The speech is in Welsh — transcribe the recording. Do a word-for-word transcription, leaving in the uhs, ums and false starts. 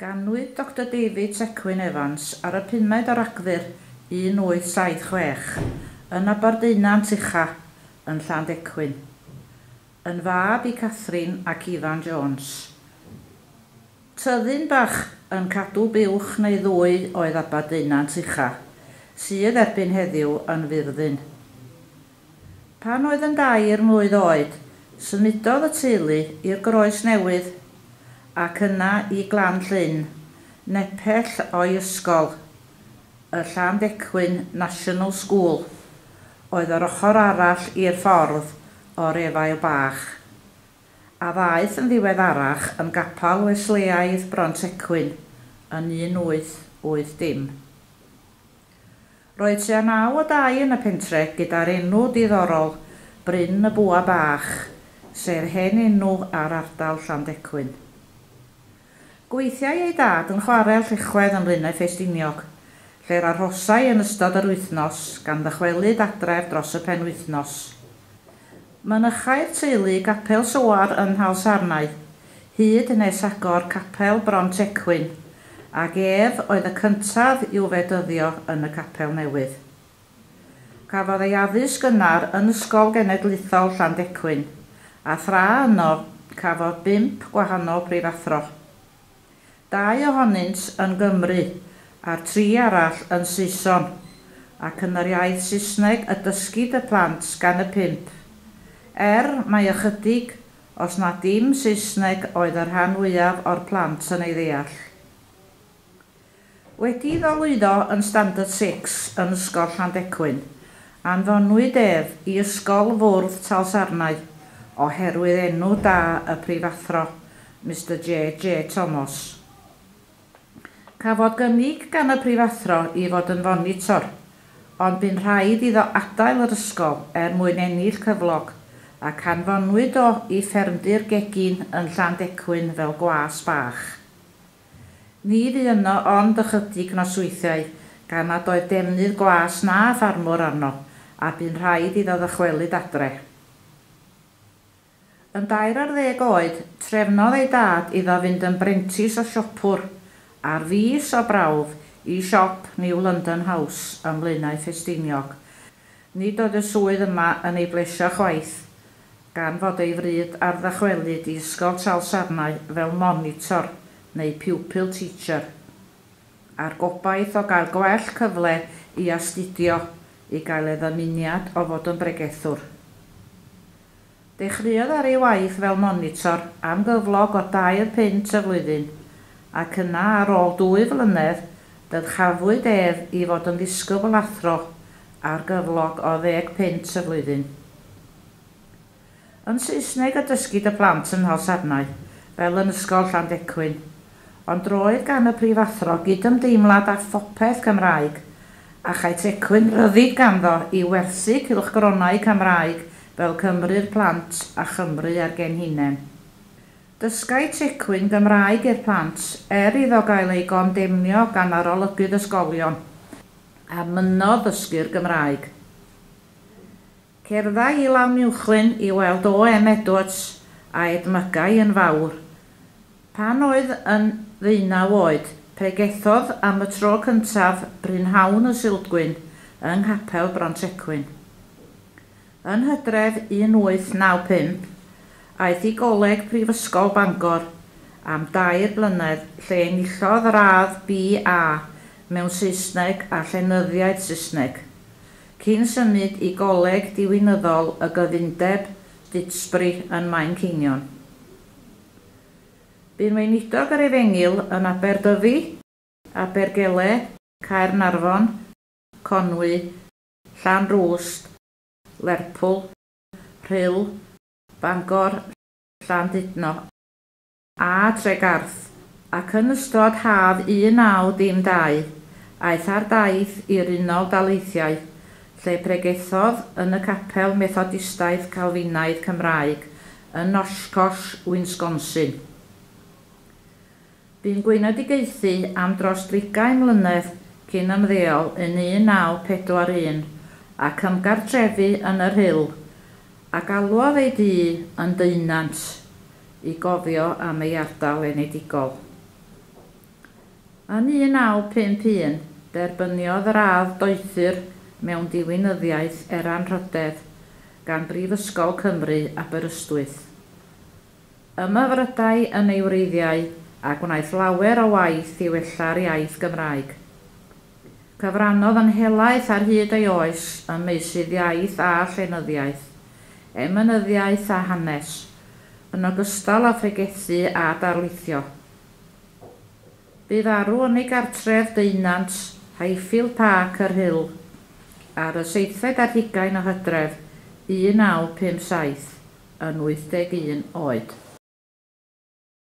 Ganwyd Doctor David Tecwyn Evans ar y pumed o Ragfyr un wyth saith chwech yn Aberdeunant Ucha yn Llandecwyn, yn fab i Catherine ac Ifan Jones. Tyddyn bach yn cadw buwch neu ddwy oedd Aberdeunant Ucha, sydd erbyn heddiw yn furddun. Pan oedd yn dair mlwydd oed, symudodd y teulu i'r Groes Newydd ac yna i Glan Llyn, nepell o'i ysgol, y Llandecwyn National School, oedd yr ochr arall i'r ffordd o'r Efail Bach, a ddaeth yn ddiweddarach yn gapel Wesleaidd Brontecwyn yn un wyth wyth dim. Roedd tua naw o dai yn y pentre gyda'r enw diddorol Bryn y Bwa Bach, sef hen enw ar ardal Llandecwyn. Gweithiai ei dad yn chwarel Llechwedd ym Mlaenau Ffestiniog, lle'r arhosai yn ystod yr wythnos gan ddychwelyd adref dros y penwythnos. Mynychai'r teulu gapel Soar yn Nhalsarnau, hyd nes agor capel Brontecwyn, ac ef oedd y cyntaf i'w fedyddio yn y capel newydd. Cafodd ei addysg gynnar yn Ysgol Genedlaethol Llandecwyn, a thra yno cafodd bump gwahanol prifathro. Dau ohonynt yn Gymru, a'r tri arall yn Saeson, ac yn yr iaith Saesneg y dysgid y plant gan y pump. Er mai ychydig, os na dim Saesneg oedd y rhan fwyaf o'r plant yn ei ddeall. Wedi iddo lwyddo yn Standard Six yn Ysgol Llandecwyn, anfonwyd ef i Ysgol Fwrdd Talsarnau oherwydd enw da y prifathro, Mister J J Thomas. Cafodd gynnig gan y prifathro i fod yn fonitor, ond bu'n rhaid iddo adael yr ysgol er mwyn ennill cyflog, ac anfonwyd o i ffermdy'r gegin yn Llandecwyn fel gwas bach. Ni fu yno ond ychydig nosweithiau, gan nad oedd defnydd gwas na ffarmwr arno, a bu'n rhaid iddo ddychwelyd adre. Yn dair ar ddeg oed, trefnodd ei dad iddo fynd yn brentis o siopwr, ar fis o brawf i siop New London House ym Mlaenau Ffestiniog. Nid oedd y swydd yma yn ei blesio chwaith, gan fod ei fryd ar ddychwelyd i Ysgol Talsarnau fel monitor neu pupil teacher, a'r gobaith o gael gwell cyfle i astudio i gael ei ddymuniad o fod yn bregethwr. Dechreuodd ar ei waith fel monitor am gyflog o dair punt y flwyddyn, ac yna ar ôl dwy flynedd dyrchafwyd ef i fod yn ddisgybl athro ar gyflog o ddeg punt y flwyddyn. Yn Saesneg y dysgid y plant yn Nhalsarnau, fel yn Ysgol Llandecwyn, ond roedd gan y prifathro gydymdeimlad â phopeth Cymraeg, a chai Tecwyn ryddid ganddo i werthu cylchgronau Cymraeg fel Cymru'r Plant a Chymru a'r Genhinen. Dysgai Tecwyn Gymraeg i'r plant er iddo gael ei gondemnio gan arolygydd ysgolion, a mynnodd ddysgu'r Gymraeg. Cerddai i Lanuwchllyn i weld O M Edwards a edmygai yn fawr. Pan oedd yn ddeunaw oed, pregethodd am y tro cyntaf Brynhawn y Sulgwyn yng Nghapel Brontecwyn. Yn Hydref un wyth naw pump, aeth i Goleg Prifysgol Bangor am dair blynedd lle enillodd radd B A mewn Saesneg a Llenyddiaeth Saesneg, cyn symud i Goleg Diwinyddol y Gyfundeb Didsbury yn Manceinion. Bu'n weinidog yr Efengyl yn Aberdyfi, Abergele, Caernarfon, Conwy, Llanrwst, Lerpwl, Rhyl, Bangor, Llandudno a Tregarth, ac yn ystod haf un naw dim dau, aeth ar daith i'r Unol Daleithiau, lle pregethodd yn y Capel Methodistaidd Calfinaidd Cymraeg yn Oshkosh, Wisconsin. Bu'n gweinedigaethu am dros drigain mlynedd cyn ymddeol yn un naw pedwar un ac ymgartrefu yn y Rhyl, a galwodd ei dŷ yn Deunant i gofio am ei ardal enedigol. Yn un naw pump un, derbyniodd radd doethur mewn diwinyddiaeth er anrhydedd gan Brifysgol Cymru, Aberystwyth. Ymhyfrydai yn ei wreiddiau a gwnaeth lawer o waith i wella'r iaith Gymraeg. Cyfrannodd yn helaeth ar hyd ei oes ym meysydd iaith a llenyddiaeth, emynyddiaeth a hanes, yn ogystal â phregethu a darlithio. Bu farw yn ei gartref Deunant, Highfield Park, y Rhyl, ar y seithfed ar hugain o Hydref un naw pump saith, yn wyth deg un oed.